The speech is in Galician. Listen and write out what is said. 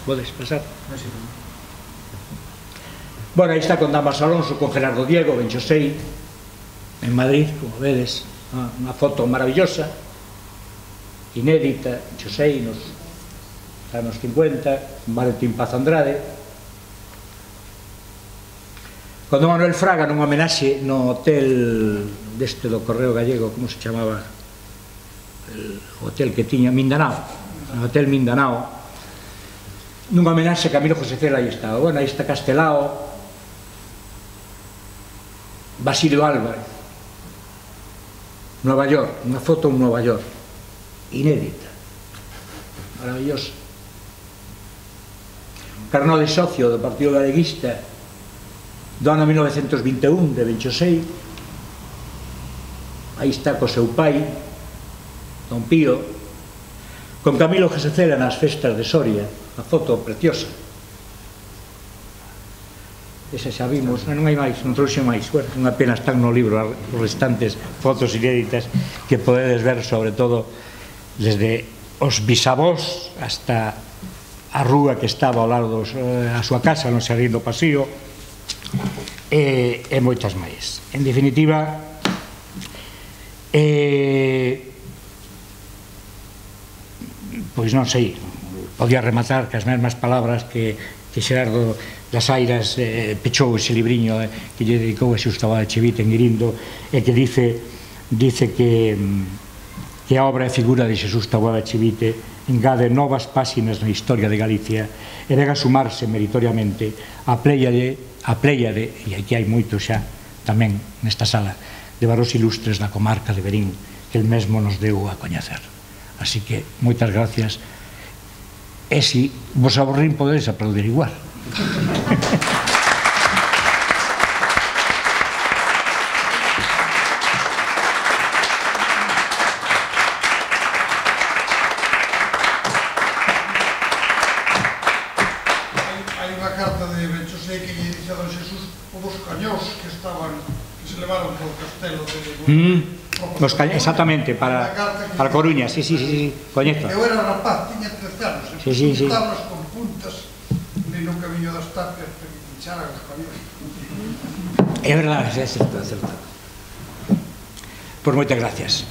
Podes pasar. Bueno, aí está con Damas Alonso, con Gerardo Diego, ben Xosei, en Madrid, como vedes, unha foto maravillosa, inédita, Xosei, nos anos 50, Valentín Paz Andrade, con Don Manuel Fraga nun homenaxe no hotel deste do Correo Gallego, como se chamaba o hotel que tiña, Mindanao, no hotel Mindanao, nunha homenaxe a Camilo José Cela. Aí está, bueno, aí está Castelao, Basilio Álvarez, Nova York, unha foto en Nova York, inédita, maravillosa. Carnot de socio do Partido Galeguista do ano 1921, de ben Xosei. Aí está co seu pai, Don Pío, con Camilo José Cela nas festas de Soria, unha foto preciosa. Esa xa vimos, non hai máis, non trouxe máis. Bueno, unha pena, están no libro os restantes fotos inéditas que podedes ver, sobre todo desde os bisavós hasta a rúa que estaba ao lado a súa casa, non se do pasío, e moitas máis. En definitiva, pois non sei, podía rematar que as mesmas palabras que Xerardo das Airas pechou ese libriño que lle dedicou a Xusто Abade Chivite en Irindo, e que dice que a obra e figura de Xesús Taboada Chivite engade novas páxinas na historia de Galicia e vega sumarse meritoriamente a pléiade, e aquí hai moito xa tamén nesta sala, de varos ilustres da comarca de Verín que el mesmo nos deu a coñecer. Así que moitas gracias, e se vos aburrín podedes aplaudir igual. Hai unha carta de ben Xosei que lle dice a don Xesús o dos cañós que se levaron polo castelo de... Exactamente, para Coruña, sí, coñezo. Eu era rapaz, tiña 13 anos, e tablas con puntas no camiño das tapias para que pincharan os cañóns. É verdade, é certo. Pois moitas gracias.